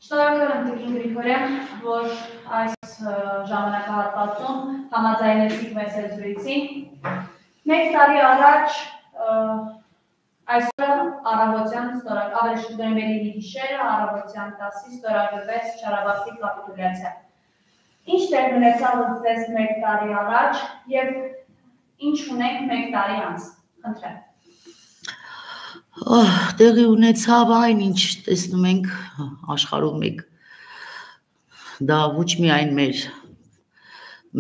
Շնորհակալ եմ Տիկին Գրիգորյան, որ այս ժամանակահատվածում համաձայնեցիք մեզ հետ զրույցին։ Մեկ տարի առաջ այսօր առավոտյան ավելի շուտորեն գիշերը առավոտյան 10-ից ստորագրվեց Չարաբաստի կապիտուլյացիա։ Ինչ տեղ ունեցավ ձեզ մեկ տարի առաջ եւ ինչ ունենք մեկ տարի անց։ Խնդրեմ։ Տեղի ունեցավ այն, ինչ տեսնում ենք աշխարհում մեկ դա ոչ միայն մեր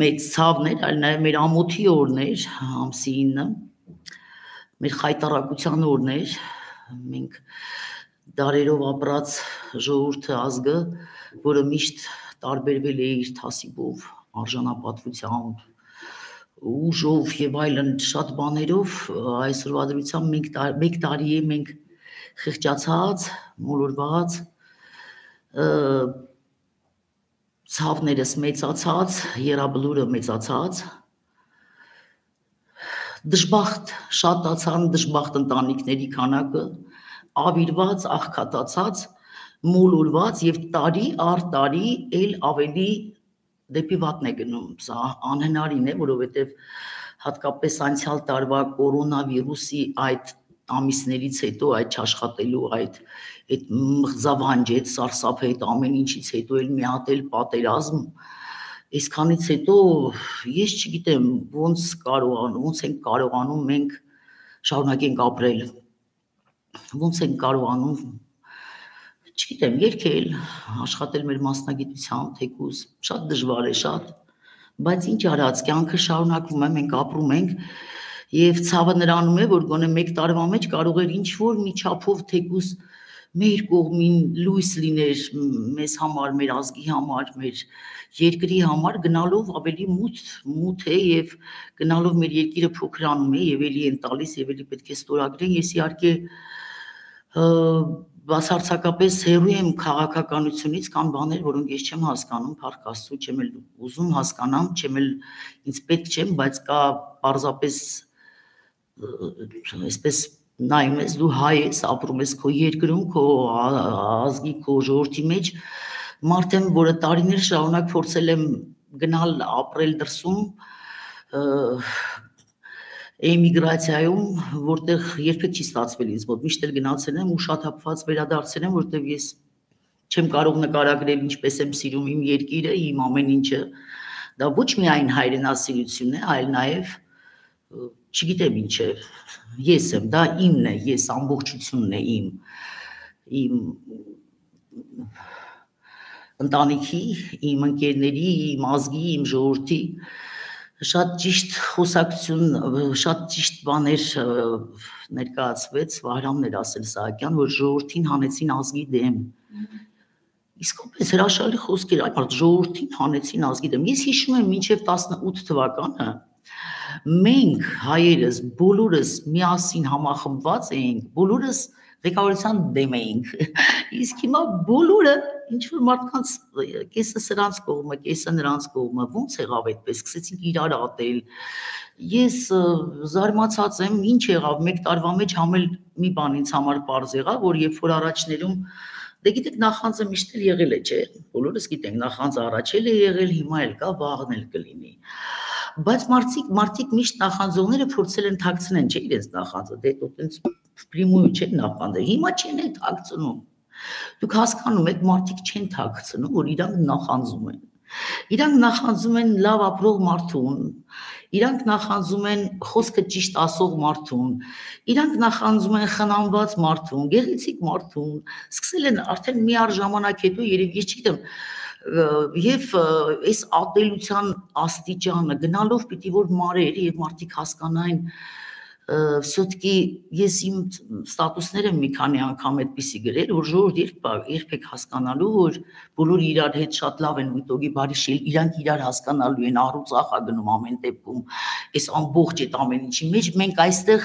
մեծ ցավներ, այլ նաև մեր ամոթի օրներ, ամսի 9, մեր խայտառակության օրներ, մենք դարերով ապրած ժողովուրդը ազգը, որը միշտ տարբերվել է իր թասիբով, արժանապատվությամբ, ուժով եւ այլն շատ բաներով այսօրվա դրությամբ մեկ տարի է մենք խղճացած, մոլորված, ցավներս մեծացած, երաբլուրը մեծացած, դժբախտ շատացան դժբախտ ընտանիքների քանակը, ավիրված, աղքատացած, մոլորված եւ տարի առ տարի էլ ավելի դեպի վատն է գնում, սա անհնարին է, որովհետև հատկապես անցյալ տարվա կորոնավիրուսի այդ ամիսներից հետո, այդ չաշխատելու, այդ մղձավանջեց, սարսափեց ամեն ինչից հետո էլ մի հատ էլ պատերազմ, այսքանից հետո ես չգիտեմ ոնց ենք կարողանում մենք շարունակենք ապրել, ոնց ենք կարողանում չգիտեմ, երգել, աշխատել մեր մասնագիտությամբ, թեկուզ, շատ դժվար է, շատ, բայց ինչ արած, կյանքը շարունակվում է, մենք ապրում ենք եւ ցավը նրանում է, որ գոնե մեկ տարվա մեջ կարող էր ինչ-որ մի չափով թեկուզ մեր կողմին լույս լիներ մեզ համար, մեր ազգի համար, մեր երկրի համար գնալով ավելի մութ է եւ գնալով մեր երկիրը փոքրանում է եւ էլի են տալիս եւ էլի պետք է ստորագրեն, ես իհարկե բացարձակապես հեռու եմ քաղաքականությունից կան բաներ, որոնք ես չեմ հասկանում, փառք Աստծո, չեմ էլ ուզում հասկանամ, չեմ էլ ինձ պետք չեմ, բայց կա պարզապես այսպես նայում ես, դու հայ ես, ապրում ես քո երկրում, քո ազգի, քո ժողովրդի մեջ, մարդ եմ, որը տարիներ շարունակ փորձել եմ գնալ ապրել դրսում, էմիգրացիայում, որտեղ երբեք չի ստացվել ինձ մոտ, միշտ էլ գնացել եմ ու շատ հապված վերադարձել եմ, որտեղ ես չեմ կարող նկարագրել ինչպես եմ սիրում իմ երկիրը, իմ ամեն ինչը, դա ոչ միայն հայրենասիրություն է, այլ նաև չգիտեմ ինչ է, ես եմ, դա իմն է, ես ամբողջությունն է իմ ընտանիքի, իմ ընկերների, իմ ազգի, իմ ժողովրդի շատ ճիշտ խոսակցություն, շատ ճիշտ բաներ ներկայացվեց, Վահրամն էր ասել Սահակյան, որ ժողովրդին հանեցին ազգի դեմ, իսկապես հրաշալի խոսքեր, այդ ժողովրդին հանեցին ազգի դեմ, ես հիշում եմ մինչև 18 թվականը, մենք հայերս բոլորս միասին համախմբված էինք, բոլորս ղեկավարության դեմ էինք, իսկ հիմա բոլորը ինչ-որ մարդկանց կեսը սրանց կողմը, կեսը նրանց կողմը, ոնց եղավ այդպես, սկսեցինք իրար ատել, ես զարմացած եմ, ինչ եղավ, մեկ տարվա մեջ համել մի բան ինձ համար պարզ եղավ, որ երբ որ առաջներում, դե գիտեք նախանձը միշտ էլ եղել է, չէ, բոլորս գիտենք, նախանձը առաջել է եղել, հիմա էլ կա, վաղն էլ կլինի, բայց մարդիկ միշտ նախանձողները փորձել են թաքցնեն, չէ, իրենց նախանձը, դե տենց պրիմույու չեն նախանձել, հիմա չեն են թաքցնում, դուք հասկանում եք, մարդիկ չեն թաքցնում, որ իրանք նախանձում են, իրանք նախանձում են լավ ապրող մարդուն, իրանք նախանձում են խոսքը ճիշտ ասող մարդուն, իրանք նախանձում են խնամված մարդուն, գեղեցիկ մարդուն, սկսել են արդեն մի առ ժամանակ հետո երևի ես չգիտեմ, եւ այս ատելության աստիճանը գնալով պիտի որ մարեր եւ մարդիկ հասկանային Все-таки ես իմ ստատուսները մի քանի անգամ այդպիսի գրել, որ ժողովուրդ երբեք հասկանալու, որ բոլորը իրար հետ շատ լավ են միտոգի բարի շիլ, իրանք իրար հասկանալու են, առուծախ գնում ամեն դեպքում, այս ամբողջ այդ ամեն ինչի մեջ, մենք այստեղ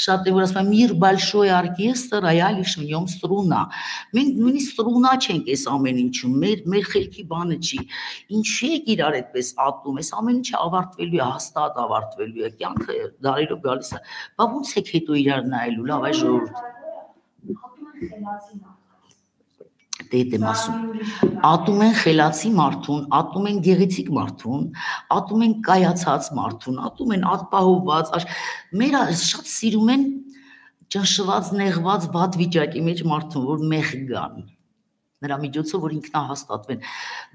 շատ է որ ասում եմ «Мир большой оркестр, а я лишь в нем струна», մենք նույնիսկ ստրունա չենք այս ամեն ինչում, մեր խելքի բանը չի, ինչի եք իրար այդպես ատում, այս ամեն ինչը ավարտվելու է, հաստատ ավարտվելու է, կյանքը դարերով գալիս է Բա ոնց եք հետո իրար նայելու, լավ այ ժողովուրդ։ Դե դեմ ասում։ Ատում են խելացի մարդուն, ատում են գեղեցիկ մարդուն, ատում են կայացած մարդուն, ատում են ապահովված, մեր շատ սիրում են ճնշված, նեղված, վատ վիճակի մեջ մարդուն, որ մեղ գան։ Նրա միջոցով որ ինքնահաստատվեն։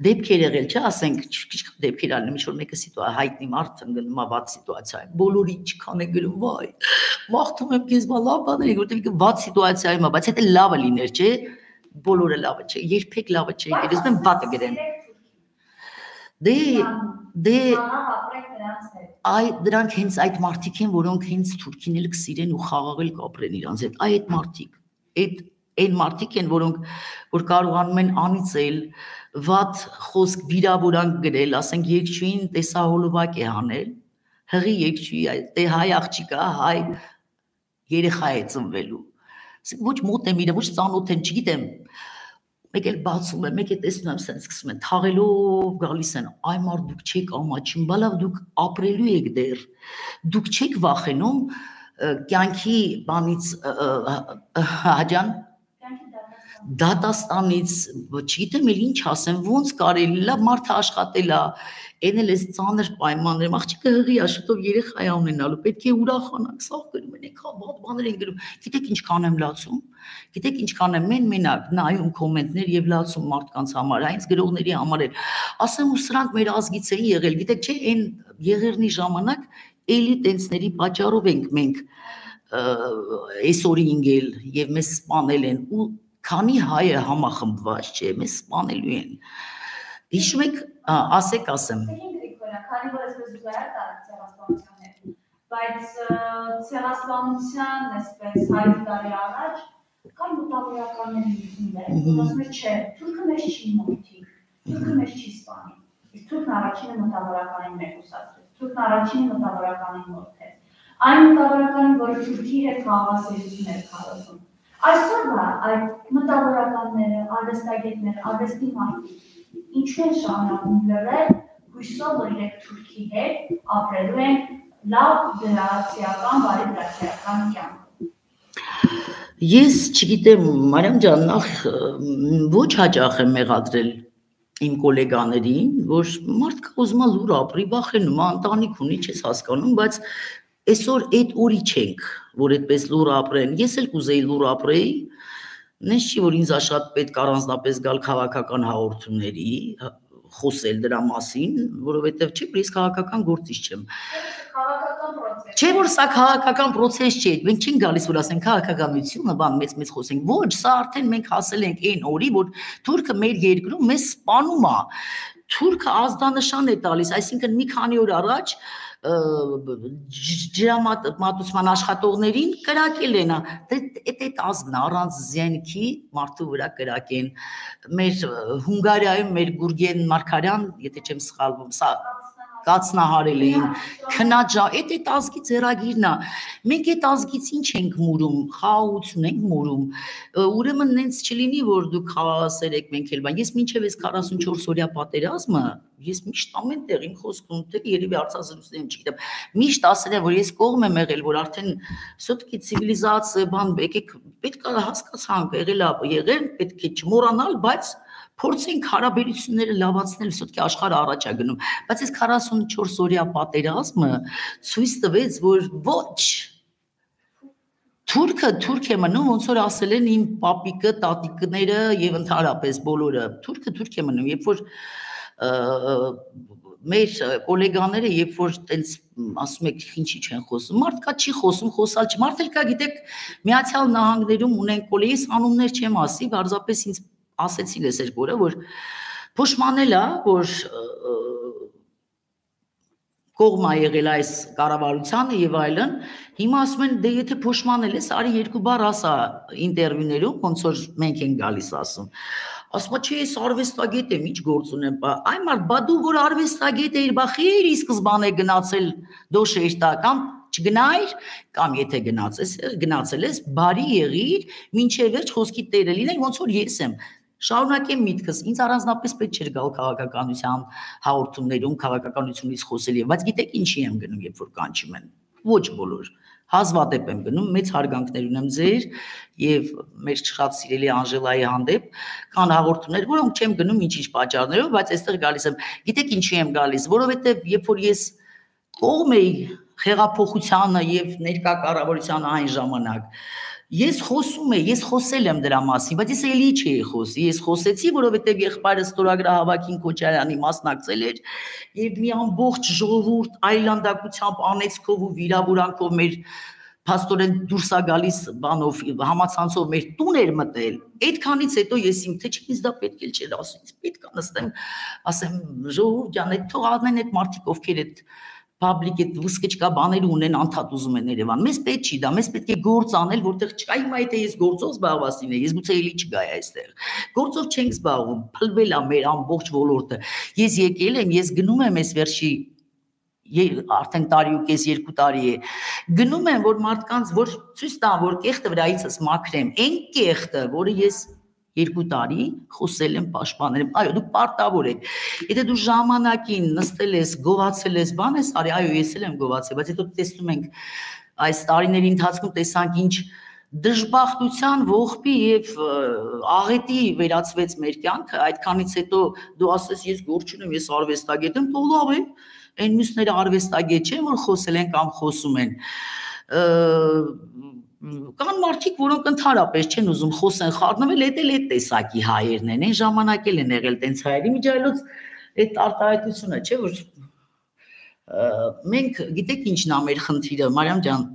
Դեպքեր եղել, չէ, ասենք, քիչ դեպքեր ալնում, ինչ-որ մեկը հայտնի մարդ ընկնում է վատ սիտուացիա, բոլորը ինչքան է գրում, վայ, մաղթում եմ քեզ լավ բաներ, որտեղ վատ սիտուացիայում է, բայց եթե լավը լիներ, չէ, բոլորը լավը չէ, երբեք լավը չէ, երբ եմ վատը գրեն։ Դե այ դրանք հենց այդ մարդիկ են, որոնք հենց թուրքին էլ կսիրեն ու խաղաղել կապրեն իրանց հետ։ Այդ մարդիկ, այն մարդիկ են, որ կարողանում են անիծել, վատ խոսք վիրավորանք գրել, ասենք երկչույին տեսահոլովակ է հանել, հղի երկչույի, դե հայ աղջիկա, հայ երեխա է ծնվելու։ Ոչ մոտ եմ իրը, ոչ ծանոթ եմ, չգիտեմ, մեկ էլ բացում եմ, մեկ էլ տեսնում եմ, սենց սկսում են, թաղելով գալիս են, այ մարդ դուք չեք ամաչում, բալավ դուք ապրելու եք դեր, դուք չեք վախենում կյանքի բանից հաջան, դատաստանից, չգիտեմ էլ ինչ ասեմ, ոնց կարելի, լավ մարդը աշխատել է, այն էլ էս ծանր պայմաններում, աղջիկը հղի է, շուտով երեխա է ունենալու, պետք է ուրախանանք, սաղ գրում են, եկա վատ բաներ են գրում, գիտեք ինչքան եմ լացում, գիտեք ինչքան եմ մենակ նայում կոմենտներ եւ լացում մարդկանց համար, այնց գրողների համար էլ, ասեմ ու սրանք մեր ազգից էին եղել, գիտեք չէ, այն եղերնի ժամանակ էլի տենցների պատճառով ենք մենք այսօր ինգել եւ մեզ սպանել են ու քանի հայ է համախմբված, չէ, մեզ սպանելու են։ Հիշում եք, ասեք ասեմ։ Քանի որ այսպես զուգահեռ ցեղասպանություններ, բայց ցեղասպանության այսպես 100 տարի առաջ կան մտավորականներ ինքններ, ասում են չէ, թուրքը մեզ չի մոռթի, թուրքը մեզ չի սպանի։ Իսկ թուրքն առաջինը մտավորականին մեկուսացրեց, թուրքն առաջինը մտավորականին մոռթեց։ Այն մտավորականին, որը թուրքի հետ խաղաղասերություն էր քարոզում։ Այսօր այդ մտավորականները, արվեստագետները, արվեստի մարդիկ ինչու են շարունակում լրել, հույսով որ իրենք թուրքի հետ ապրելու են լավ գրացիական, բարի գրացիական կյանք։ Ես չգիտեմ, Մարիամ ջան, նախ ոչ հաճախ եմ մեղադրել իմ գոլեգաներին, որ մարդը ուզում է լուր ապրի, վախենում է, ընտանիք ունի, չես հասկանում, բայց այսօր այդ օրի չենք, որ այդպես լուր ապրեն, ես էլ կուզեի լուր ապրեի, նենց չի, որ ինձ շատ պետք առանձնապես գալ քաղաքական հաղորդումների, խոսել դրա մասին, որովհետև չէ, որ ես քաղաքական գործիչ չեմ։ Չէ, որ սա քաղաքական պրոցես չէ, մենք չենք գալիս, որ ասենք քաղաքականությունը, բան մեծ խոսենք, ոչ, սա արդեն մենք հասել ենք այն օրի, որ թուրքը մեր երկրում մեզ սպանում է, թուրքը ազդանշան է տալիս, այսինքն մի քանի օր առաջ ջրամատուցման աշխատողներին կրակել են, այդ ազգն առանց զենքի մարդու վրա կրակեն, մեր Հունգարիայում մեր Գուրգեն Մարգարյան, եթե չեմ սխալվում, սա կացնահարել էին, քնաջա, այդ ազգի ձեռագիրն է, մենք այդ ազգից ինչ ենք մուրում, խաղաղություն ենք մուրում, ուրեմն նենց չլինի, որ դուք խաղաղասեր եք մենք էլ բան, ես մինչև այս 44 օրյա պատերազմը, ես միշտ ամեն տեղ իմ խոսքում, թե երևի արձազրույցներում չգիտեմ, միշտ ասել եմ, որ ես կողմ եմ եղել, որ արդեն սոտքի ցիվիլիզացիա բան, եկեք պետք է հասկացանք, եղել, պետք է չմոռանալ, բայց փորձենք հարաբերությունները լավացնել, սոտքի աշխարհը առաջ է գնում, բայց այս 44 օրյա պատերազմը ցույց տվեց, որ ոչ թուրք է մնում, ոնց որ ասել են իմ պապիկը, տատիկները եւ ընդհանրապես բոլորը, թուրք է մնում, երբ որ մեր գոլեգաները, երբ որ տենց ասում եք ինչի չեն խոսում, մարդկա չի խոսում, խոսալ չի, մարդ էլ կա, գիտեք, Միացյալ Նահանգներում ունեն կոլեգիս անուններ չեմ ասի, բարձրապես ինձ ասեցին ես երկորը, որ փոշմանել է, որ կողմ է եղել այս կառավարությանը եւ այլն, հիմա ասում են, դե եթե փոշմանել ես, արի երկու բառ ասա ինտերվյուներում, ոնց որ մենք ենք գալիս ասում։ Ասում չէ, ես արվեստագետ եմ, ինչ գործ ունեմ, այ մարդ, բա դու որ արվեստագետ էիր, բա խիր ի սկզբանե գնացել դոշեշտա կամ չգնայր, կամ եթե գնացել ես, բարի եղիր, մինչև վերջ խոսքի տերը լինել, ոնց որ ես եմ։ Շարունակեմ միտքս, ինձ առանձնապես պետք չէր գալ քաղաքականության հաղորդումներում, քաղաքականությունից խոսել, բայց գիտեք ինչի եմ գնում, երբ որ կանչում են, ոչ բոլոր, հազվադեպ եմ գնում, մեծ հարգանքներ ունեմ ձեր եւ մեր շատ սիրելի Անժելայի հանդեպ, կան հաղորդումներ, որոնք չեմ գնում ինչ-ինչ պատճառներով, բայց այստեղ գալիս եմ։ Գիտեք ինչի եմ գալիս, որովհետեւ երբ որ ես կողմ էի խեղափոխությանը եւ ներկա կառավարությանը այն ժամանակ, ես խոսել եմ դրա մասին, բայց ես էլի չէի խոսի, ես խոսեցի, որովհետև եղբայրս ստորագրահավաքին Քոչարյանի մասնակցել էր եւ մի ամբողջ ժողովուրդ այլանդակությամբ, անեծքով ու վիրավորանքով մեր փաստորեն դուրս է գալիս բանով համացանցով մեր տուն էր մտել։ Այդքանից հետո ես իմ թե չէ ինձ դա պետք էլ չէր ասում, պետք է նստեմ, ասեմ ժողովուրդ ջան, այդ թող անեն այդ մարդիկ ովքեր այդ public այդ վսկճկա բաները ունեն անդադ ուզում են Երևան։ Մեզ պետք չի դա, մեզ պետք է գործ անել, որտեղ չկա հիմա եթե ես գործով զբաղված լինեի, ես գուցե էլի չգայի այստեղ։ Գործով չենք զբաղվում, փլվել է մեր ամբողջ ոլորտը։ Ես եկել եմ, ես գնում եմ այս վերջի արդեն տարի ու կես 2 տարի է։ Գնում եմ, որ մարդկանց, որ ցույց տամ, որ կեղտը վրայիցս մաքրեմ, այն կեղտը, որը ես 2 տարի խոսել եմ, պաշտպանել եմ, այո, դուք պարտավոր եք։ Եթե դու ժամանակին նստել ես, գովացել ես, բան ես արի, այո, ես էլ եմ գովացել, բայց հետո տեսնում ենք այս տարիների ընթացքում տեսանք ինչ դժբախտության, ողբի եւ աղետի վերածվեց մեր կյանքը, այդքանից հետո դու ասես ես գործ չունեմ, ես արվեստագետ եմ, թող լավ է, այն մյուսները արվեստագետ չեն, որ խոսել են կամ խոսում են։ Կան մարդիկ, որոնք ընդհանրապես չեն ուզում խոսեն, խառնվել, այդ տեսակի հայերն են, այն ժամանակ էլ են եղել տենց հայերի միջայլոց այդ արտահայտությունը, չէ՞ որ մենք գիտեք ինչն է մեր խնդիրը, Մարիամ ջան,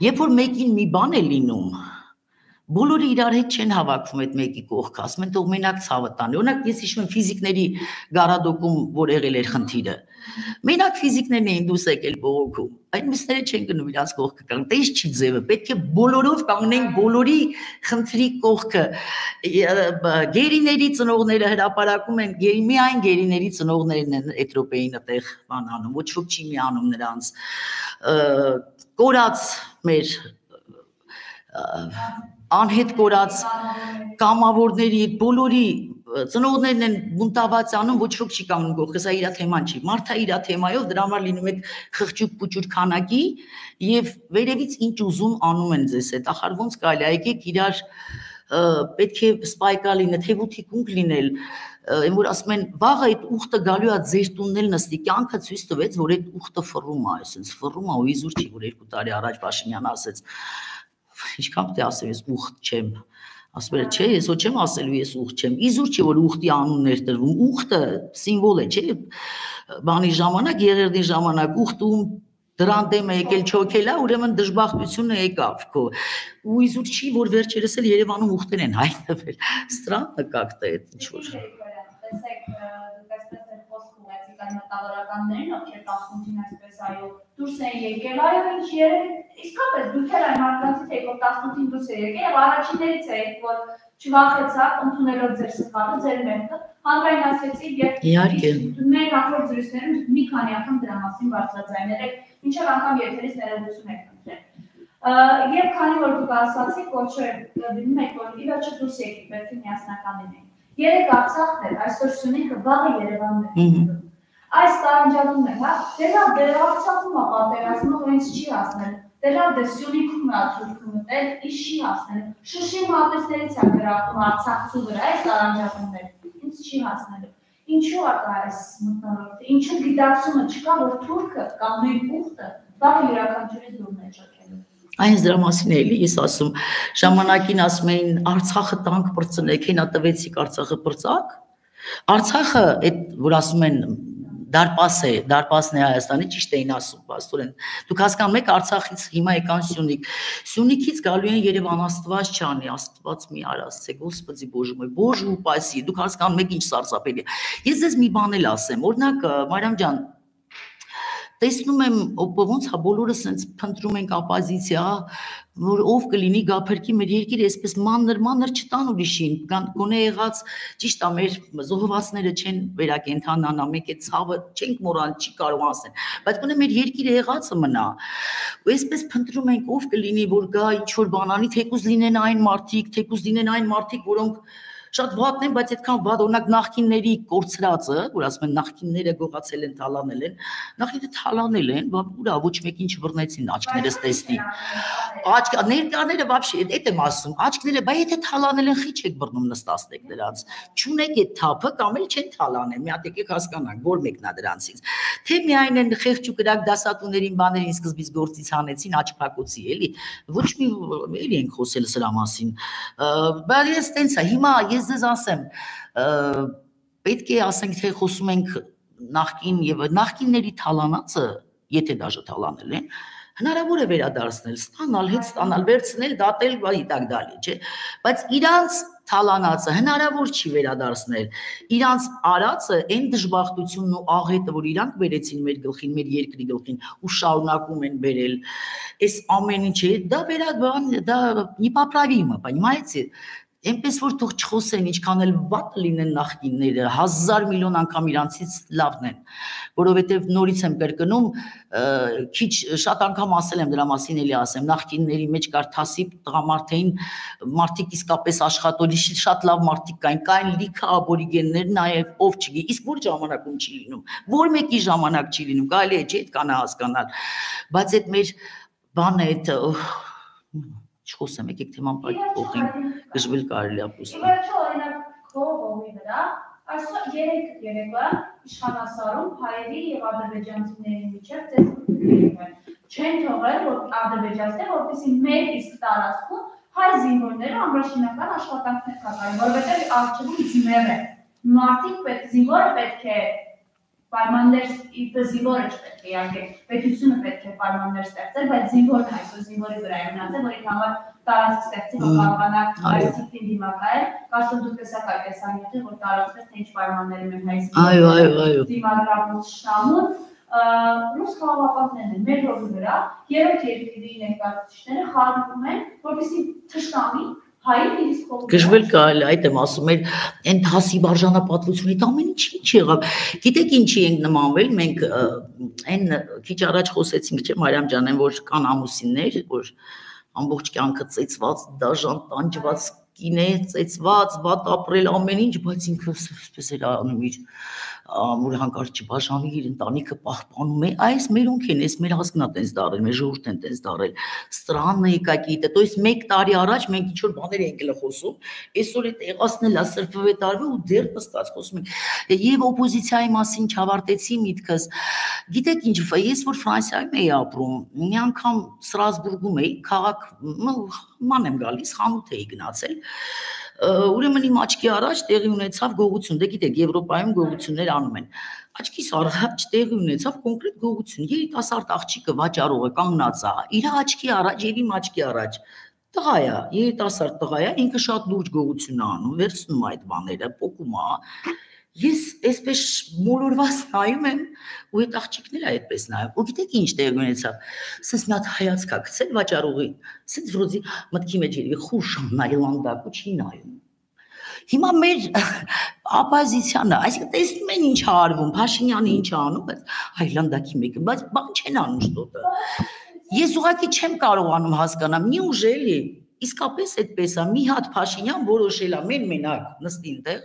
երբ որ մեկին մի բան է լինում, բոլորը իրար հետ չեն հավաքվում այդ մեկի կողքը, ասում են թող մենակ ցավը տանի։ Օրինակ ես հիշում եմ ֆիզիկների գարադոկում, որ եղել էր խնդիրը։ Մենակ ֆիզիկներն էին դուրս եկել բողոքում, այդ մյուսները չեն գնում իրաց կողքը կանգ, տես չի ձևը, պետք է բոլորով կանգնենք բոլորի խնդրի կողքը։ Գերիների ծնողները հրապարակում են, միայն գերիների ծնողներն են Էթրոպեին այդտեղ բան անում, ոչ ոք չի միանում նրանց։ Կորած մեր անհետ կորած կամավորների բոլորի ծնողներն են բունտաված անում, ոչ ոք չի կանգնում կողքը, սա իր թեման չի։ Մարդը իր թեմայով դրա համար լինում է խղճուկ-պուճուր քանակի եւ վերևից ինչ ուզում անում են ձեզ հետ։ Ախար ոնց կարելի է, եկեք իրար պետք է սպայկա լինել, թեվութիկունք լինել, այն որ ասում են վաղը այդ ուխտը գալու է ձեր տունն էլ նստի, կյանքը ցույց տվեց, որ այդ ուխտը ֆռում է, այսպես ֆռում է ու իզուր չի, որ 2 տարի առաջ Փաշինյանը ասեց ինչքան պետք է ասեմ, ես ուխտ չեմ, ասում է, չէ, ես ոչ չեմ ասելու, ես ուխտ չեմ, իզուր չի, որ ուխտի անուններ տրվում, ուխտը սիմվոլ է, չէ, բանի ժամանակ, եղերդի ժամանակ, ուխտում դրան դեմ է եկել չոքել է, ուրեմն դժբախտությունը եկավ քո, ու իզուր չի, որ վերջերս էլ Երևանում ուխտեր են հայտնվել, странно как-то это ինչ-որ մտավորականներին, ովքեր 18-ին այսպես այո դուրս են եկել, այո ինչ երևի իսկապես դուք էլ այն մարդկանցից եք, որ 18-ին դուրս է եկել եւ առաջիններից եք, որ չվախեցաք ընդունելով ձեր սխալը, ձեր մեղքը, հանրային ասեցիք եւ մեր նախորդ զրույցներում մի քանի անգամ դրա մասին բարձրաձայնել եք, ինչեւ անգամ եթերից ներողություն եք խնդրել։ Եվ քանի որ դուք ասացիք, ոչ դիմում եք, որ ի վերջո դուրս եկեք, պետք է միասնական լինենք։ Երեք Արցախն է, այսօր Սյունիքը, վաղը Երևանն է։ Այս տարանջատում է, հա, դե Արցախում է պատերազմը, հենց չի հասնել, դե Սյունիքում է թուրքը մտել, ինչ չի հասնել, Շուշի մատեսներից է գրավում Արցախցու վրա, այս տարանջատումներ, ինձ չի հասնելու, ինչու է կա այս մտնոլորտը, ինչու գիտակցումը չկա, որ թուրքը կամ մեր ուխտը վաղը յուրաքանչյուրից դուրն է չոքելու։ Այս դրա մասին է էլի, ես ասում, ժամանակին ասում էին Արցախը տանկ պրծնեք, հենա տվեցիք Արցախը պրծակ, Արցախը, այդ որ ասում են դարպասն է Հայաստանի, ճիշտ էին ասում, պաստորեն, դուք հասկանում եք Արցախից հիմա եկան Սյունիք, Սյունիքից գալու են Երևան, Աստված չանի, Աստված մի արասցե, Господи Боже мой, Боже упаси, դուք հասկանում եք ինչ սարսափելի է։ Ես ձեզ մի բան էլ ասեմ, օրինակ Մարիամ ջան, տեսնում եմ, ոնց հա բոլորը սենց փնտրում ենք ապոզիցիա, որ ով կլինի գափերքի մեր երկիրը այսպես մանր չտան ուրիշին, գոնե եղած ճիշտ է մեր զոհվածները չեն վերակենդանանա, մեկ է ցավը չենք մոռանալ, չի կարող ասեն, բայց գոնե մեր երկիրը եղածը մնա։ Ու այսպես փնտրում ենք ով կլինի, որ գա ինչ որ բան անի, թեկուզ լինեն այն մարդիկ, որոնք շատ վատն են, բայց այդքան վատ, օրինակ նախկինների կորցրածը, որ ասում են նախկինները գողացել են, թալանել են, նախկինները թալանել են, ուրա ոչ մեկին չբռնեցին աչքներս տեսնի։ Ներկաները вообще, այդ եմ ասում, աչքները, բայց եթե թալանել են, խի չեք բռնում նստածեք դրանց։ Չունեք այդ թափը կամ էլ չեն թալանել, մի հատ եկեք հասկանանք, որ մեկն է դրանցից։ Թե միայն են խեղճ ու կրակ դասատուներին բաներին սկզբից գործից հանեցին աչփակոցի, էլի։ Ոչ մի էլի ենք խոսել սրա մասին։ Բայց ես տենց է, հիմա ես ձեզ ասեմ, պետք է ասենք, թե խոսում ենք նախկին եւ նախկինների թալանածը, եթե դաժե թալանել են, հնարավոր է վերադարձնել, ստանալ, հետ ստանալ, վերցնել, դատել, и так далее, չէ՞։ Բայց իրանց թալանածը հնարավոր չի վերադարձնել։ Իրանց արածը այն դժբախտությունն ու աղետը, որ իրանք բերեցին մեր գլխին, մեր երկրի գլխին ու շարունակում են բերել, այս ամեն ինչը, դա непоправимо, понимаете? Այնպես որ թող չխոսեն, ինչքան էլ վատ լինեն նախկինները, 1000 միլիոն անգամ իրանցից լավն են, որովհետև նորից եմ կրկնում, քիչ շատ անգամ ասել եմ դրա մասին, էլի ասեմ, նախկինների մեջ կար թասիբ տղամարդ էին, մարդիկ իսկապես աշխատողի շատ լավ մարդիկ կային լիքը աբորիգեններ, նաև ով չգիտի, իսկ որ ժամանակում չի լինում, որ մեկի ժամանակ չի լինում, կարելի է չէ՞ այդ կանա հասկանալ, բայց այդ մեր բանը այդ չխոսեմ, եկեք թեման փոխենք, գժվել կարելի է ապրել։ Իվերջո օրինակ քո ողի վրա, այսօր երեկոյան իշխանասարում հայերի եւ ադրբեջանցիների միջեւ ծեծում չեն թողել, որ ադրբեջանցիները, որպեսզի մեր իսկ տարածքում հայ զինվորները ամրաշինական աշխատանքներ կատարեն, որովհետեւ արժեվում զինվոր է։ Մարդիկ զինվորը պետք է պայմաններ զինվորը չպետք է իհարկե պետությունը պետք է պայմաններ ստեղծել, բայց զինվորն այսօր զինվորի վրա է մնացել, որի համար տարածք ստեղծի, որ կարողանա այս տիպին դիմակայել, կարծում դուք տեսակ այդ տեսանյութը, որ տարածքներ թե ինչ պայմաններում են հայ զինվորները դիմագրավում շնամուն, ռուս խաղաղապահներն են մեր հողի վրա, երրորդ երկրի ներկայացուցիչները խառնվում են, որպեսզի թշնամի Գժվել կարելի, այդ եմ ասում, այն հասիբ արժանապատվությունը, ամեն ինչ եղավ։ Գիտեք ինչի ենք նմանվել, մենք այն քիչ առաջ խոսեցինք, չէ՞ Մարիամ ջան, այն որ կան ամուսիններ, որ ամբողջ կյանքը ծեծված, դաժան, տանջված կին է, ծեծված, վատ ապրել ամեն ինչ, բայց ինքը այսպես էր անում իր որ հանկարծ չբաժանի իր ընտանիքը պահպանում է, այս մերոնք են, այս մեր ազգն է տենց դարել, մեր ժողովուրդն են տենց դարել, странно какие-то, то есть 1 տարի առաջ մենք ինչ որ բաներ ենք խոսում, այսօր այդ եղածն է սրբվե տարվա ու դեռ նստած խոսում ենք, եւ օպոզիցիայի մասին չավարտեցի միտքս, գիտեք ինչ, ես որ Ֆրանսիայում էի ապրում, մի անգամ Ստրասբուրգում էի, քաղաք ման եմ գալիս, խանութ էի գնացել, ուրեմն իմ աչքի առաջ տեղի ունեցավ գողություն, դե գիտեք, Եվրոպայում գողություններ անում են, աչքիս առաջ տեղի ունեցավ կոնկրետ գողություն, երիտասարդ աղջիկը վաճառողը կանգնած է, իր աչքի առաջ եւ իմ աչքի առաջ, տղա է, երիտասարդ տղա է, ինքը շատ լուրջ գողություն է անում, վերցնում այդ բաները, պոկում է, ես այսպես մոլորված նայում եմ ու այդ աղջիկները այդպես նայում ու գիտեք ինչ տեղի ունեցավ սենց մի հատ հայացք է գցել վաճառողին սենց վրոզի մտքի մեջ երևի խուշ նայլանդակ ու չի նայում հիմա մեր оппозиցիանը այսինքն տեսնում են ինչ է արվում Փաշինյանը ինչ է անում այլանդակի մեկը բայց բան չեն անում շտոտը ես ուղղակի չեմ կարողանում հասկանալ մի ուժելի իսկապես այդպես է մի հատ Փաշինյան որոշել է մենակ նստի այնտեղ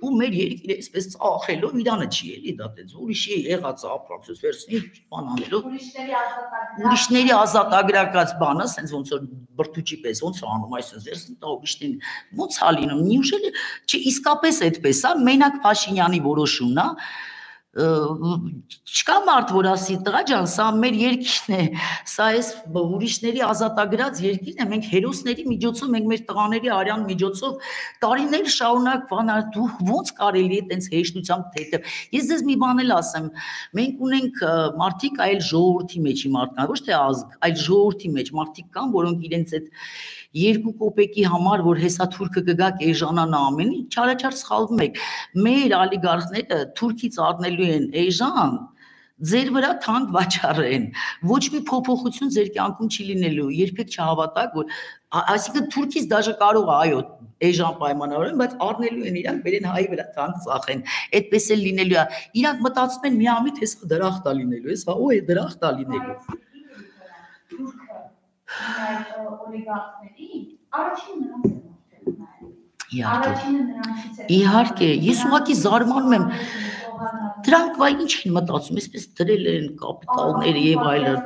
ու մեր երկիրը այսպես ծախելով իրանը չի էլի դա դե ուրիշի եղած ապրանքս վերցնի բան անելով ուրիշների ազատագրակած բանը ասենց ոնց որ բրդուճի պես ոնց անում այսպես վերցնի տա ուրիշներին ոնց է լինում նույնիսկ չէ իսկապես այդպես է մենակ Փաշինյանի որոշումն է չկա մարդ որ ասի տղա ջան սա մեր երկիրն է սա էս ուրիշների ազատագրած երկիրն է մենք հերոսների միջոցով մենք մեր տղաների արյան միջոցով տարիներ շարունակ բանալ դու ոնց կարելի է տենց հեշտությամբ թեթև ես ձեզ մի բան էլ ասեմ մենք ունենք մարդիկ այլ ժողովրդի մեջի մարդկանց ոչ թե ազգ այլ ժողովրդի մեջ մարդիկ կան որոնք իրենց այդ 2 կոպեկի համար որ հեսա թուրքը կգա կեժանանա ամեն ինչ չարաչար սխալվում եք մեր ալիգարխները թուրքից առնելու են էժան ձեր վրա թանկ վաճառեն ոչ մի փոփոխություն ձեր կյանքում չի լինելու երբեք չհավատաք որ այսինքն թուրքից դաժե կարող է այո էժան պայմանավորեն բայց առնելու են իրանք բերեն հայի վրա թանկ ծախեն այդպես էլ լինելու է իրանք մտածում են միամիտ հեսա դրախտ է լինելու հեսա ու է դրախտ է լինելու այդ օլիգարխների առաջին նրանց են Իհարկե, ես ուղղակի զարմանում եմ, դրանք վայ ինչ են մտածում, այսպես դրել են կապիտալներ եւ այլն։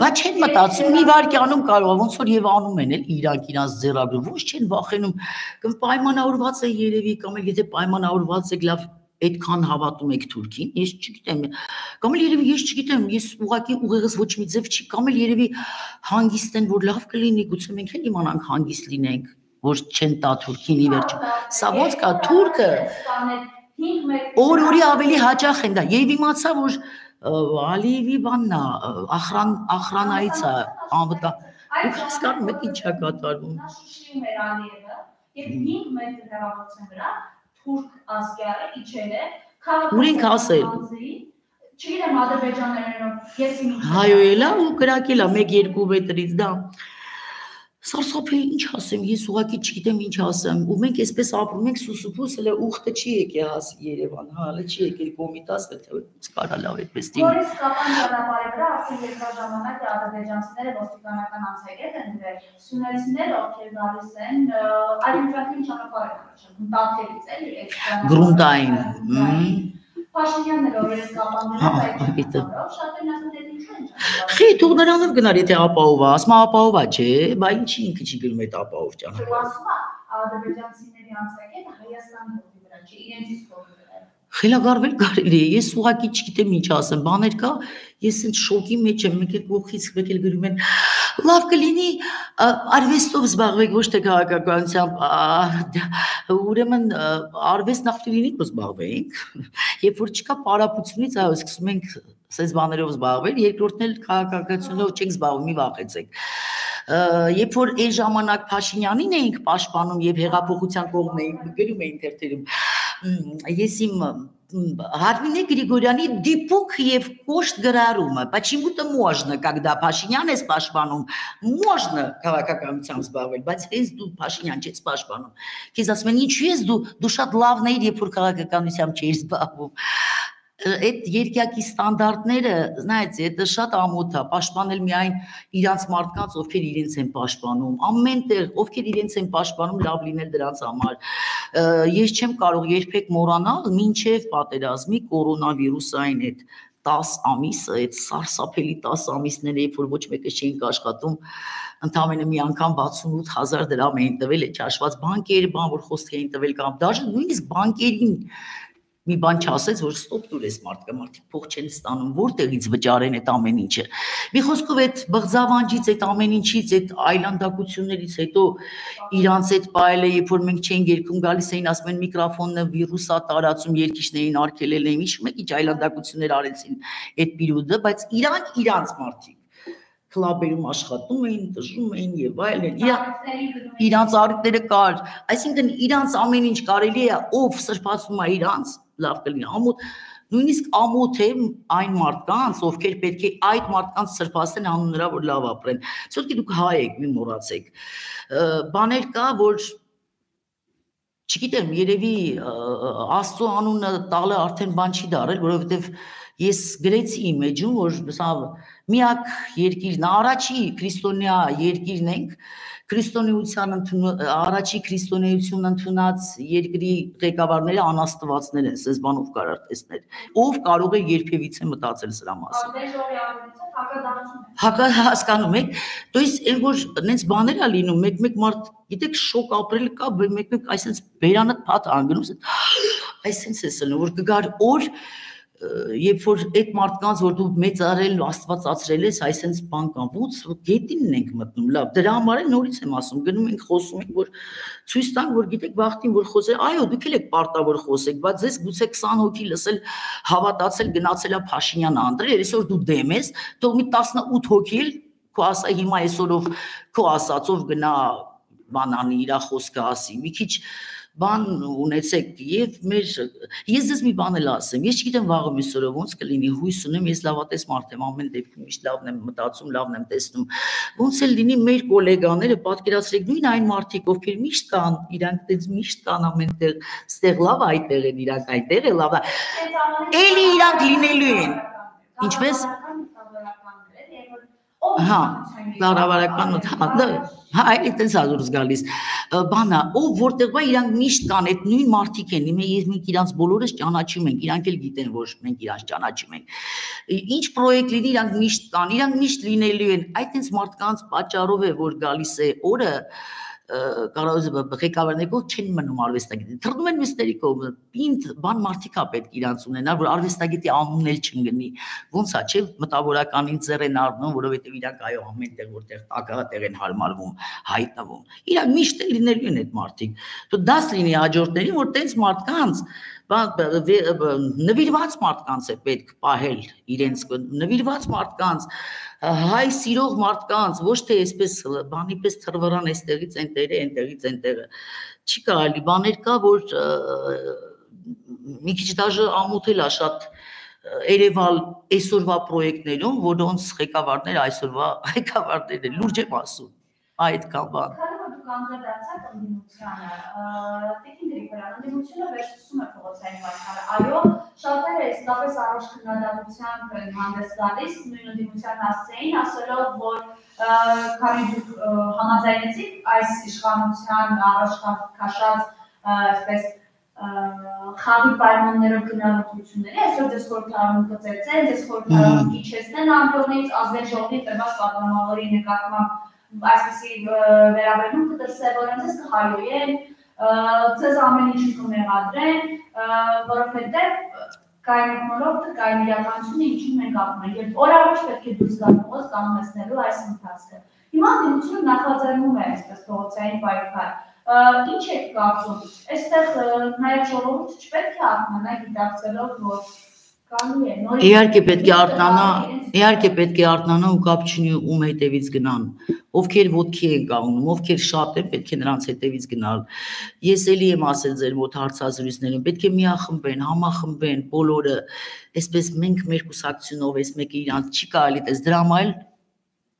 Բայց չեն մտածում, մի վայրկյանում կարող է, ոնց որ եւ անում են էլ իրանք իրանց ձեռագրում, ոչ չեն վախենում, կամ պայմանավորված է երևի, կամ էլ եթե պայմանավորված եք լավ այդքան հավատում եք Թուրքին, ես չգիտեմ, կամ էլ երևի ես չգիտեմ, ես ուղղակի ուղեղս ոչ մի ձև չի, կամ էլ երևի հանգիստ են, որ լավ կլինի, գուցե մենք էլ իմանանք հանգիստ լինենք, որ չեն տա Թուրքին ի վերջո։ Սա ոնց կա Թուրքը օր-օրի ավելի հաճախ են դա։ Եվ իմացա, որ Ալիևի բանն է, ախրանայից է, անվտանգ։ Դուք հասկանում եք ինչ է կատարվում։ Նա շշրում էր Ալիևը, եւ 5 մետր հեռավորության վրա թուրք ազգյարը իջել է, ուր ենք ասել։ Չգիտեմ ադրբեջաներենով, ես իմիջ։ Հայո էլա ու կրակել է 1-2 մետրից դա։ Սարսափելի ինչ ասեմ, ես ուղղակի չգիտեմ ինչ ասեմ, ու մենք այսպես ապրում ենք սուսուփուս, հələ ուխտը չի եկել հասի Երևան, հա, հələ չի եկել Կոմիտաս, թե կարա լավ այդպես դիմի։ Որից կապան ճանապարհի վրա արդեն երկար ժամանակ ադրբեջանցիները ոստիկանական անցագետ են դրել, սյունեցիները ովքեր գալիս են, այլընտրանքին ճանապարհ են առաջանում, Տաթևից էլի, Գրունտային։ Փաշինյանն էլ օրերս կապաններով այդ շատերն ասում են ինչու են ճանապարհ։ Խի թող նրանով գնար եթե ապահովա, ասում ապահովա չէ, բա ինչի ինքը չի գնում այդ ապահով ճանապարհ։ Ասում է ադրբեջանցիների անցագետը Հայաստանի հողի վրա չի, իրենցից փոխել։ Խելագարվել կարելի է, ես ուղղակի չգիտեմ ինչ ասեմ, բաներ կա, ես ինձ շոկի մեջ եմ, մեկ էլ կողքից մեկ էլ գրում են, լավ կլինի արվեստով զբաղվեք, ոչ թե քաղաքականությամբ, ուրեմն արվեստ նախ լինի զբաղվենք, երբ որ չկա պարապությունից, այո, սկսում ենք սենց բաներով զբաղվել, երկրորդն էլ քաղաքականությունով չենք զբաղվում, մի վախեցեք։ Երբ որ այն ժամանակ Փաշինյանին էինք պաշտպանում եւ հեղափոխության կողմն էինք գրում էին թերթերում, ես իմ Հարմինե Գրիգորյանի դիպուկ եւ կոշտ գրառումը, почему-то можно, когда Փաշինյան ես պաշտպանում, можно քաղաքականությամբ զբաղվել, բայց հենց դու Փաշինյան չես պաշտպանում։ Քեզ ասում են ինչու ես դու շատ լավն էիր, երբ որ քաղաքականությամբ չէիր զբաղվում։ Այդ երկյակի ստանդարտները, знаете, это շատ ամոթ է, պաշտպանել միայն իրանց մարդկանց, ովքեր իրենց են պաշտպանում, ամենտեղ, ովքեր իրենց են պաշտպանում, լավ լինել դրանց համար։ Ես չեմ կարող երբեք մոռանալ մինչև պատերազմի կորոնավիրուսային այդ 10 ամիսը, այդ սարսափելի 10 ամիսները, երբ որ ոչ մեկը չէինք աշխատում, ընդամենը մի անգամ 68,000 դրամ էին տվել, այդ չհաշված բանկերը, բան որ խոսք էին տվել կամ դաժե նույնիսկ բանկերին մի բան չասեց, որ ստոպ դուր ես մարդիկ փող չեն ստանում, որտեղից վճարեն այդ ամեն ինչը։ Մի խոսքով այդ բղձավանջից, այդ ամեն ինչից, այդ այլանդակություններից հետո իրանց այդ պայելը, երբ որ մենք չենք երգում, գալիս էին, ասում են միկրոֆոնը վիրուս է տարածում, երկիշներին արգելել են, ինչ մեկ ինչ այլանդակություններ արեցին այդ պիրուդը, բայց իրանց մարդիկ քլաբերում աշխատում էին, տժում էին եւ այլն, իրանց առիթները կար, այսինքն իրանց ամեն ինչ կարելի է, ով սրբացնում է իրանց, լավ կլինի, ամոթ, նույնիսկ ամոթ է այն մարդկանց, ովքեր պետք է այդ մարդկանց սրբացնեն անուն նրա, որ լավ ապրեն, սովորքի դուք հայ եք, մի մոռացեք, բաներ կա, որ չգիտեմ, երևի Աստծո անունը տալը արդեն բան չի դարել, որովհետեւ ես գրեցի իմ էջում, որ սա միակ երկիրն, առաջի քրիստոնյա երկիրն ենք, առաջի քրիստոնեություն ընդունած երկրի ղեկավարները անաստվածներ են, սենց բանով կարար տեսնել, ով կարող է երբևիցե մտածել սրա մասին։ Հասկանում եք, то есть այն որ նենց բաներ է լինում, մեկ մարդ, գիտեք, շոկ ապրել կա, մեկ այսենց բերանդ փաթ անգնում, այսենց է սլնում, որ կգար օր երբ որ այդ մարդկանց, որ դու մեծարել ու աստվածացրել ես, այսենց բան կան, ոնց գետինն ենք մտնում, լավ, դրա համար էլ նորից եմ ասում, գնում ենք խոսում ենք, որ ցույց տանք, որ գիտեք վախտին, որ խոսել, այո, դուք էլ եք պարտավոր խոսեք, բայց ձեզ գուցե 20 հոգի լսել, հավատացել, գնացել է Փաշինյանը անդրել, այսօր դու դեմ ես, թող մի 18 հոգի էլ քո ասա հիմա այսօրով քո ասածով գնա բանանի իր խոսքը ասի, մի քիչ բան ունեցեք եւ ես ձեզ մի բան էլ ասեմ, ես չգիտեմ վաղը մյուսօրը ոնց կլինի, հույս ունեմ, ես լավատես մարդ եմ, ամեն դեպքում միշտ լավն եմ մտածում, լավն եմ տեսնում, ոնց էլ լինի մեր գոլեգաները, պատկերացրեք նույն այն մարդիկ, ովքեր միշտ կան, իրանք դες միշտ կան ամենտեղ, ստեղ լավ այդտեղ են իրանք, այդտեղ է լավ, էլի իրանք լինելու են, ինչպես հա, կառավարական հա, այդպես ալուրս գալիս։ Բանա, ով որտեղ բա իրանք միշտ կան, այդ նույն մարդիկ են, մենք իրանք բոլորս ճանաչում ենք, իրանք էլ գիտեն, որ մենք իրանք ճանաչում ենք։ Ինչ պրոյեկտ լինի, իրանք միշտ կան, իրանք միշտ լինելու են։ Այդպես մարդկանց պատճառով է, որ գալիս է օրը կարող ղեկավարները չեն մնում արվեստագետի։ Թռնում են մյուսների կողմը։ Պինդ բան մարդիկ է պետք իրանց ունենալ, որ արվեստագետի անունն էլ չընկնի։ Ոնց է, չէ՞, մտավորականին ձեռ են առնում, որովհետև իրանք այո ամենտեղ որտեղ տակատեղ են հարմարվում, հայտնվում։ Իրանք միշտ էլ լինելու են այդ մարդիկ։ Դու դաս լինի հաջորդներին, որ տենց մարդկանց նվիրված մարդկանց է պետք պահել իրենց նվիրված մարդկանց հայ սիրող մարդկանց ոչ թե այսպես բանի պես թռվռան այստեղից այնտեղը այնտեղից այնտեղը չի կարելի բաներ կա որ մի քիչ դաժե ամոթել է շատ Երևալ այսօրվա պրոյեկտներում որոնց ղեկավարները այսօրվա ղեկավարներ են լուրջ եմ ասում այդքան բան Անդրադարձակ ընդդիմությանը, տիկին Գրիգորյան, ընդդիմությունը վերջսում է փողոցային պայքարը, այո, շատերը իսկապես առաջ քննադատությամբ են հանդես գալիս, նույն ընդդիմության հասցեին, ասելով, որ քանի դուք համաձայնեցիք այս իշխանության առաջ քաշած այսպես խաղի պայմաններով գնահատությունների, այսօր ձեզ խորհրդարանում կծեցեն, ձեզ խորհրդարանում իջեցնեն ամբողջից ազգային ժողովի տրված պատգամավորի նկատմամբ այսպեսի վերաբերում կդրսևորեն, ձեզ կհայոյեն, ձեզ ամեն ինչ կմեղադրեն, որովհետև կային մոլորտը, կային իրականությունը, ինչին մենք ապրում ենք, երբ օր առաջ պետք է դուրս գալ փողոց կանոնեցնելու այս ընթացքը։ Հիմա ընդդիմությունը նախաձեռնում է այսպես փողոցային պայքար։ Ինչ եք կարծում, այստեղ նաև ժողովուրդը չպետք է արթնանա գիտակցելով, որ Իհարկե պետք է արթնանա ու կապ չունի ում հետևից գնան, ովքեր ոտքի են կանգնում, ովքեր շատ են, պետք է նրանց հետևից գնալ։ Ես էլի եմ ասել ձեր մոտ հարցազրույցներում, պետք է միախմբեն, համախմբեն բոլորը, այսպես մենք մեր կուսակցությունով այս մեկը իրանց չի կարելի տես դրամ այլ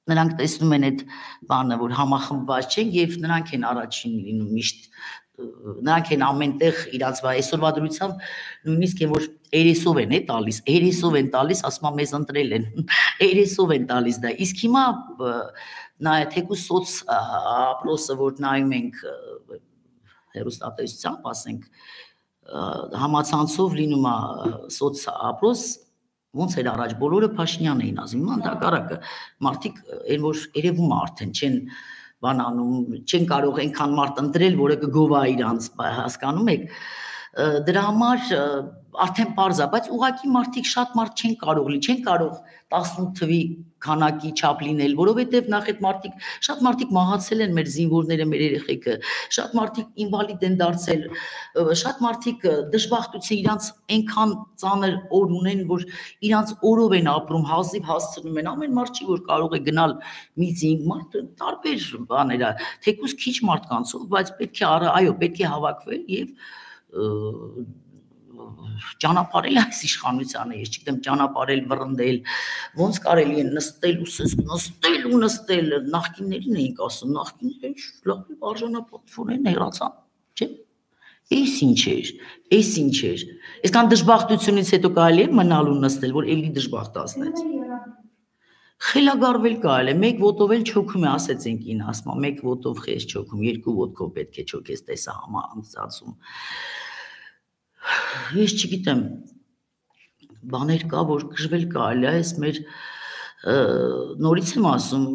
նրանք տեսնում են այդ բանը, որ համախմբված չեն եւ նրանք են առաջին լինում միշտ նրանք են ամենտեղ իրանց այսօրվա դրությամբ նույնիսկ են որ երեսով են տալիս, երեսով են տալիս, ասում եմ մեզ ընտրել են, երեսով են տալիս դա։ Իսկ հիմա նա թեկուզ սոց ապրոսը որ նայում ենք հեռուստատեսությամբ, ասենք համացանցով լինում է սոց ապրոս ոնց էր առաջ բոլորը Փաշինյան էին ասում, հիմա ընդհակառակը մարդիկ այն որ երևում է արդեն չեն բանանում չեն կարող այնքան մարդ ընտրել, որը կգովա իրանց, հասկանում եք, դրա համար արդեն պարզ է, բայց ուղղակի մարդիկ շատ մարդ չեն կարող 18 թվի քանակի չափ լինել, որովհետև նախ այդ մարդիկ շատ մարդիկ մահացել են մեր զինվորները, մեր երեխեքը, շատ մարդիկ ինվալիդ են դարձել, շատ մարդիկ դժբախտություն իրանց այնքան ծանր օր ունեն, որ իրանց օրով են ապրում, հազիվ հասցնում են, ամեն մարդ չի որ կարող է գնալ միծինգ, մարդ տարբեր բաներ է, թեկուզ քիչ մարդկանցով, բայց պետք է այո, պետք է հավաքվել եւ ճանապարհել այս իշխանությանը, ես չգիտեմ ճանապարհել, վռնդել, ոնց կարելի է նստել, նախկիններին էինք ասում, նախկինները լավ արժանապատվորեն հեռացան, չէ՞։ Էս ինչ էր։ Այսքան դժբախտությունից հետո կարելի է մնալու նստել, որ էլի դժբախտացնեց։ Խելագարվել կարելի է, մեկ ոտով էլ չոքում է, ասեցինք ին ասма, մեկ ոտով խես չոքում, երկու ոտքով պետք է չոքես, տեսա համացածում։ Ես չգիտեմ, բաներ կա, որ կժվել կարելի է, այս մեր նորից եմ ասում,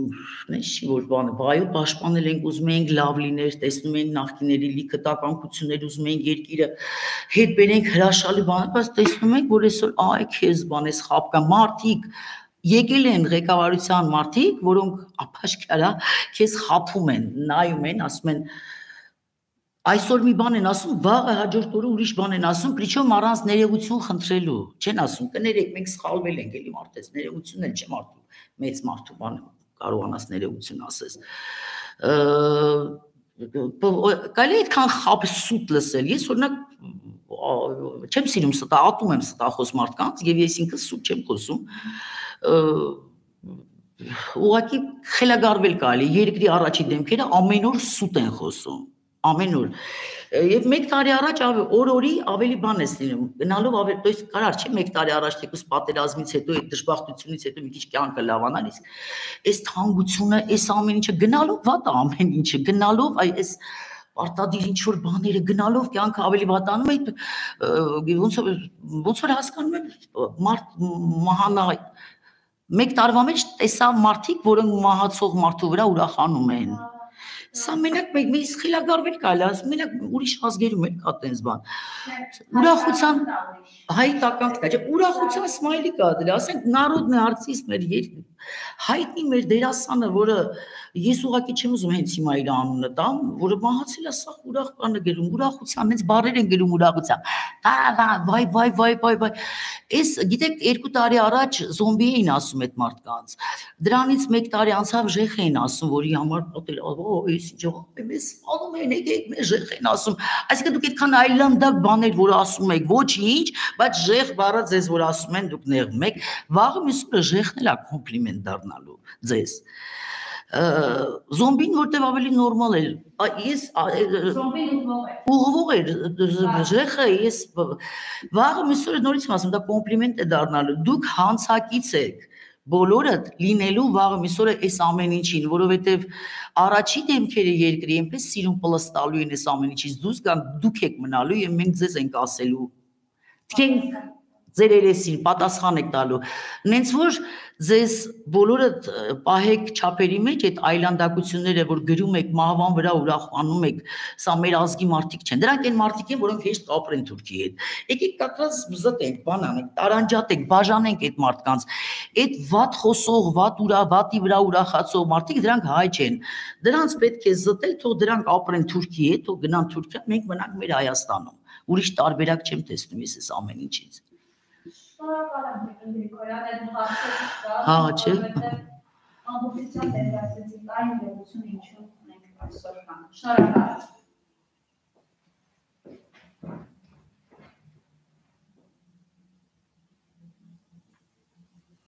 նես չի որ բանը, բայո պաշտպանել ենք, ուզում ենք լավ լիներ, տեսնում ենք նախկիների լիքը տականքություններ, ուզում ենք երկիրը հետ բերենք հրաշալի բաներ, բայց տեսնում ենք, որ այսօր այ քեզ բան էս խապկա մարդիկ եկել են ղեկավարության մարդիկ, որոնք ապաշխարա քեզ խափում են, նայում են, ասում են այսօր մի բան են ասում, վաղը հաջորդ օրը ուրիշ բան են ասում, причем առանց ներողություն խնդրելու, չեն ասում, կներեք, մենք սխալվել ենք, էլի մարդես, ներողություն էլ չեմ արդու, մեծ մարդու բան կարողանաս ներողություն ասես։ Կարելի է այդքան խապ սուտ լսել, ես օրինակ չեմ սիրում ստա, ատում եմ ստախոս մարդկանց եւ ես ինքս սուտ չեմ խոսում։ Ուղղակի խելագարվել կարելի, երկրի առաջի դեմքերը ամեն օր սուտ են խոսում։ Ամեն օր Եվ 1 տարի առաջ օր-օրի ավելի բան ես լինում, գնալով ավելի, то есть կարար չէ 1 տարի առաջ թեկուզ պատերազմից հետո այդ դժբախտությունից հետո մի քիչ կյանքը լավանալ, իսկ այս թանկությունը, այս ամեն ինչը գնալով վատ է ամեն ինչը, գնալով այս պարտադիր ինչ-որ բաները գնալով կյանքը ավելի վատանում է, ոնց որ հասկանում եմ մարդ մահանա 1 տարվա մեջ տեսա մարդիկ, որոնք մահացող մարդու վրա ուրախանում են։ Սա մենակ մեզ խելագարվել կարելի է, մենակ ուրիշ ազգերում էլ կա տենց բան։ Ուրախության հայտական կա, չէ, ուրախության սմայլի կա դրա, ասենք Народный արտիստ մեր հայտնի մեր դերասանը, որը ես ուղղակի չեմ ուզում հենց հիմա իր անունը տամ, որը մահացել է, սա ուրախ բան է գրում, ուրախության, հենց բառեր են գրում ուրախության։ Վայ։ Այս գիտեք 2 տարի առաջ զոմբի էին ասում այդ մարդկանց։ Դրանից 1 տարի անցավ ժեխ էին ասում, որի համար պատել, այս ինչ մեզ սպանում են, եկեք մեզ ժեխ են ասում։ Այսինքն դուք այդքան այլանդակ բաներ, որ ասում եք, ոչինչ, բայց ժեխ բառը ձեզ որ ասում են, դուք նեղվում եք, վաղը մյուս օրը ժեխն էլ է կոմպլիմենտ դառնալու ձեզ։ Զոմբին որտեվ ավելի նորմալ է, ես Զոմբին ուղղվող էր ժեխը, ես վաղը մյուս օրը նորից եմ ասում, դա կոմպլիմենտ է դառնալու, դուք հանցակից եք բոլորը լինելու վաղը մյուս օրը այս ամեն ինչին, որովհետև առաջի դեմքերը երկրի այնպես սիրուն պլստալու են այս ամեն ինչից դուրս գան, դուք եք մնալու եւ մենք ձեզ ենք ասելու, թենք ձեր երեսին պատասխան եք տալու, նենց որ ձեզ բոլորը պահեք չափերի մեջ այդ այլանդակությունները, որ գրում եք մահվան վրա ուրախանում եք, սա մեր ազգի մարդիկ չեն, դրանք են մարդիկ են, որոնք հեշտ կապրեն Թուրքիի հետ, եկեք կակրած զտենք, բան անենք, տարանջատենք, բաժանենք այդ մարդկանց, այդ վատ խոսող, վատի վրա ուրախացող մարդիկ, դրանք հայ չեն, դրանց պետք է զտել, թող դրանք ապրեն Թուրքիի հետ, թող գնան Թուրքիա, մենք մնանք մեր Հայաստանում, ուրիշ տարբերակ չեմ տեսնում ես այս ամեն ինչից։ Հա, չէ։ Ամբողջությամբ ներկայացրեցիք այն իրողությունը, ինչու մենք այսօր կանք։ Շնորհակալ եմ։